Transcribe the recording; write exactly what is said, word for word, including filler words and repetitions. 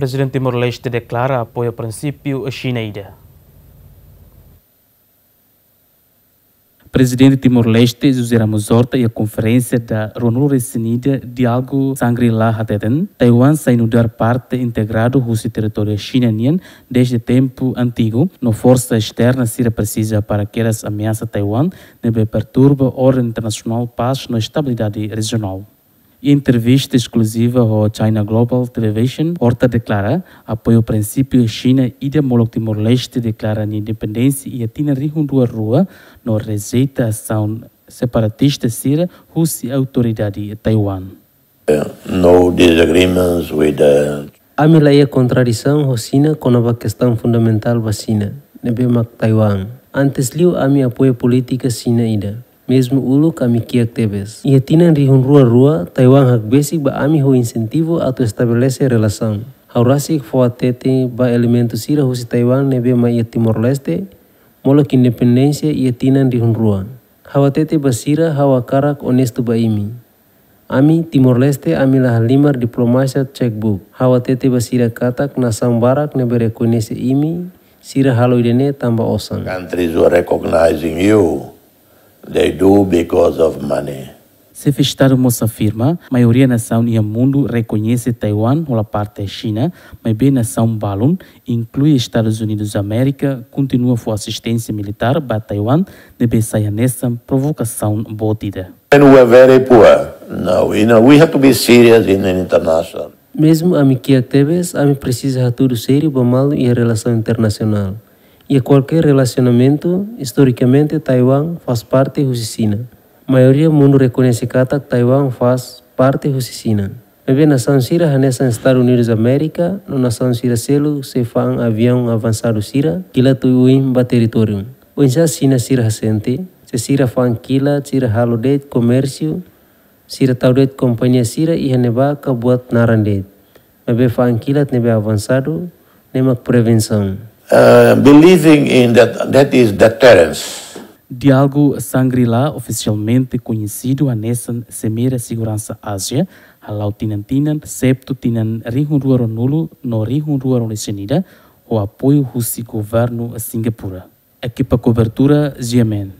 Prezidente Timor-Leste deklara apoiu prinsípiu Xina ida. Prezidente Timor-Leste, José Ramos Horta, iha konferénsia da ruanulu-resin-ida Diálogu Shangri-La hateten, Taiwan sai nu'udar parte integradu husi territóriu Xina nian desde tempu antigu, no forsa esterna sira presiza para kedas ameasa Taiwan, ne'ebé perturba orden internasionál, pás no estabilidade rejionál. Iha entrevista eskluziva ho China Global Television, Horta deklara apoiu prinsípiu Xina ida molok Timor-Leste deklara nia independénsia iha tinan rihun rua rua no rejeita asaun separatista sira husi autoridade Taiwan. No disagreements with the Ami la iha kontradisaun ho Xina kona-ba kestaun fundamentál ba Xina, ne'ebé mak Taiwan. Antes liu ami apoia polítika Xina ida. Mezmu uluk ami kiak tebes. Iha tinan rihun rua rua, Taiwan hakbesik ba ami ho insentivu atu estabelese relasaun. Ha'u rasik fó hatete ba elementu sira husi Taiwan ne'ebé mai iha Timor-Leste, molok independénsia iha tinan rihun rua. Ha'u hatete ba sira, ha'u hakarak onestu ba imi. Ami, Timor-Leste, ami la halimar diplomasia checkbook. Ha'u hatete ba sira katak nasaun barak ne'ebé rekoñese imi, sira halo ida-ne'e tanba osan. Countries who are recognizing you, they do because of money. Xefe Estadu mós afirma, maioria nasaun iha mundu rekoñese Taiwan hola parte Xina, maibé nasaun balun, inklui Estadus Unidus Amérika, kontinua fó asisténsia militár ba Taiwan, ne'ebé sai hanesan provokasaun boot ida. And we are very poor. No, you know, we have to be serious in an international. Mezmu ami kiak tebes, ami presiza hatudu sériu ba malu iha relasaun internasionál. Iha kualkér relasionamentu, istorikamente Taiwan faz parte husi Xina. Maioria mundu rekoñese katak Taiwan faz parte husi Xina. Maibé nasaun sira hanesan Estadus Unidus Amérika, no nasaun sira seluk sei fa'an aviaun avansadu sira, kilat oioin ba territóriu. Oinsá Xina sira hasente, se sira fa'an kilat, sira halo de'it komérsiu, sira tau de'it kompañia sira iha ne'ebá ka buat naran de'it. Maibé fa'an kilat ne'ebé avansadu, ne'e mak prevensaun. Uh, believing in that, that is deterrence. Diálogu Shangri-La, ofisialmente koñesidu hanesan Simeira Seguransa Ázia, hala'o tinan-tinan, exetu tinan rihun rua ruanulu no rihun rua ruanulu-resin-ida, ho apoiu husi governu Singapura. Ekipa kobertura, G M N.